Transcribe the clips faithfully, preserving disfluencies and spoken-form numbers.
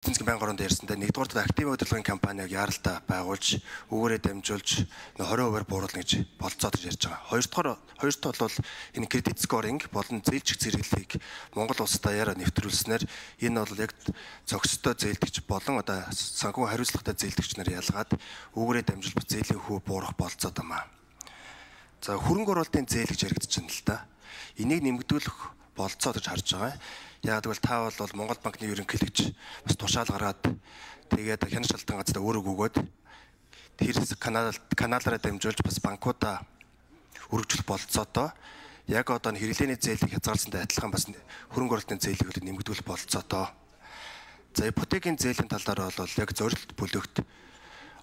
Эцэг байнгын оронд ярьсандаа нэгдүгээр актив удирдлагын компаниаг яаралтай байгуулж үүгээрээ дамжуулж twenty хувиар бууруулна гэж болцоод ярьж байгаа. Хоёрдугаар хоёрт бол энэ кредит скоринг болон зээлжих зэрэглэлийг Монгол улс даяараа нэвтрүүлснээр энэ бол яг зохистой зээлдэгч болон одоо санхүү хариуцлагатай зээлдэгч нар ялгаад үүгээрээ дамжуулж зээлийн хүү буурах болцоод байна. За хөрөнгө оруулалтын зээл гэж яригдчихэв л да. Энийг нэмэгдүүлэх болцоо гэж харж байгаа. Яг тэгвэл та бол Монгол банкны ерөнхийлөгч бас тушаал гаргаад тэгээд хянаж шалтгаан газар өөрөө өгөөд тэр канал каналаараа дамжуулж бас банкудаа өргөжлөх болцоотоо яг одоо хэрэглээний зээлийг хязгаарласантай адилхан бас хөрөнгө оруулалтын зээлийг нэмэгдүүлэх болцоотоо. За ипотекийн зээлийн талаар бол яг зорилт бүлэгт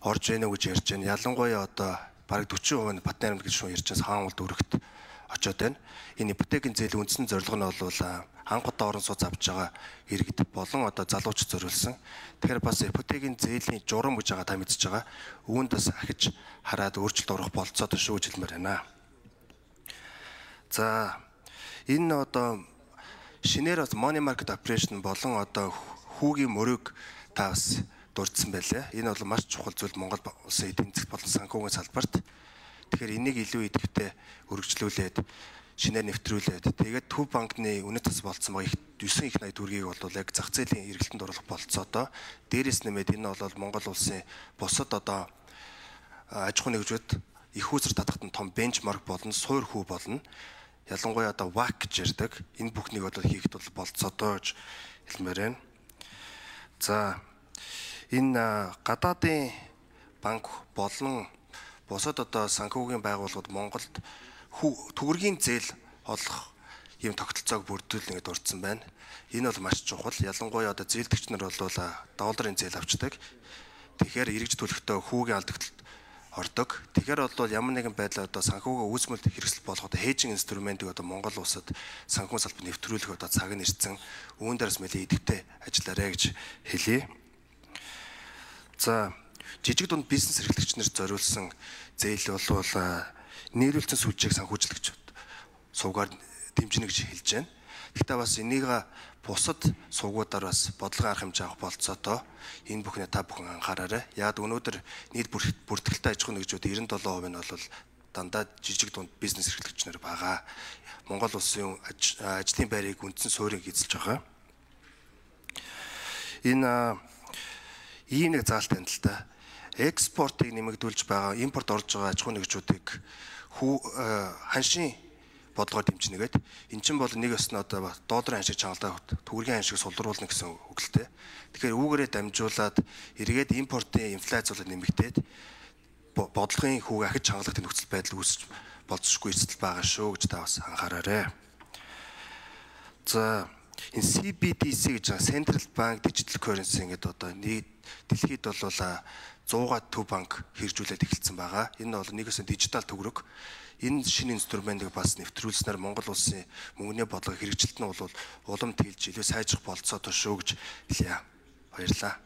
орж ийнэ гэж ярьж байна. Ялангуяа одоо бараг forty percent Батны аймаг гэж шууд ярьж байгаа хаан улд өргөт очоод байна. Энэ ипотекийн зээлийн үндсэн зорилго нь бол анхудаа орон сууц авч байгаа иргэд болон одоо залуучд зориулсан. Тэгэхээр бас ипотекийн зээлийн журам гэж байгаа та мэдж байгаа. Үүнд бас ахиж хараад өөрчлөлт орох болцоотой шүү гэж хэлмээр байна. За энэ одоо шинээр бас money market operation болон одоо хүүгийн мөрөг та бас дурдсан байлаа. Энэ бол маш чухал зүйл Монгол улсын эдийн засгт болон санхүүгийн салбарт. Тэгэхээр энийг илүү идэвхтэй өргөжлүүлээд шинээр нэвтрүүлээд тэгээд Төв банкны үнэт тас болцсон байгаа nine их найд төгрөгийг бол яг зах зээлийн эргэлтэнд оруулах болцоотоо дээрээс нэмээд энэ бол Монгол улсын бусад одоо аж ахуйн нэгжүүд их үүсвэр татахад нь том бенчмарк болно, суур хүү болно. Ялангуяа одоо вэ а си гэж ярьдаг. Энэ бүхнийг бол хийхэд бол болцоотоо гэж хэлмээр байна. За энэ гадаадын банк болон бусад одоо санхүүгийн байгууллагууд Монголд төгрөгийн зээл олох юм тогтолцоог бүрдүүлнэ гэдээ дурдсан байна. Энэ бол маш чухал. Ялангуяа одоо зээлдэгч нар бол долларын зээл авчдаг. Тэгэхээр эргэж төлөхдөө хүүгийн алдагталд ордог. Тэгэхээр бол ямар нэгэн байдлаар одоо санхүүгийн үүсмэлд хэрэгсэл болох одоо хейжинг инструментыг одоо Монгол улсад санхүүгийн салбарт нэвтрүүлэх одоо цаг нь ирсэн. Үүн дээрс нэлээд идэвхтэй ажиллаарай гэж хэлье. За жижиг дунд бизнес эрхлэгч нар зориулсан зээл бол нийлүүлсэн сүлжээг санхүүжлэгч сувгаар дэмжинэ гэж хэлж байна. Гэхдээ бас энийг бусад сувгуудаар бас бодлого арга хэмжээ авах болцоотоо энэ бүхнээ та бүхэн анхаараарай. Яг өнөөдөр нийт бүртгэлтэй аж ахуйн нэгжүүд ninety-seven percent нь бол дандаа жижиг дунд бизнес эрхлэгч нар байгаа. Монгол улсын ажлын байрыг үндсэн суурийг эзэлж байгаа. Энэ ийм нэг заалт байна л да. Экспортыг нэмэгдүүлж байгаа, импорт орж байгаа аж ахуйн нэгжүүдийг ханшийн бодлогоор дэмжинэгээд эн чинь бол нэг ёсны одоо долларын ханшийг чангалаа төгрөгийн ханшийг сулруулна гэсэн үг л дээ. Тэгэхээр үүгээрээ дамжуулаад эргээд импортын инфляц бол нэмэгдээд бодлогын хүүг ахиж чангалах нөхцөл байдал үүсэж болцсохгүй эсэл байгаа шүү гэж та бас анхаараарай. За энэ C B D C гэж байгаа Central Bank Digital Currency гэдэг одоо нийт дэлхийд бол one hundred Төв банк хэрэгжүүлээд эхэлсэн байгаа. Энэ бол нэгээс дижитал төгрөг. Энэ шинэ инструментыг бас нэвтрүүлснээр Монгол улсын мөнгөний бодлого хэрэгжилт нь бол улам тэлж илүү сайжрах болцоотой шүү гэж хэлье. Баярлалаа.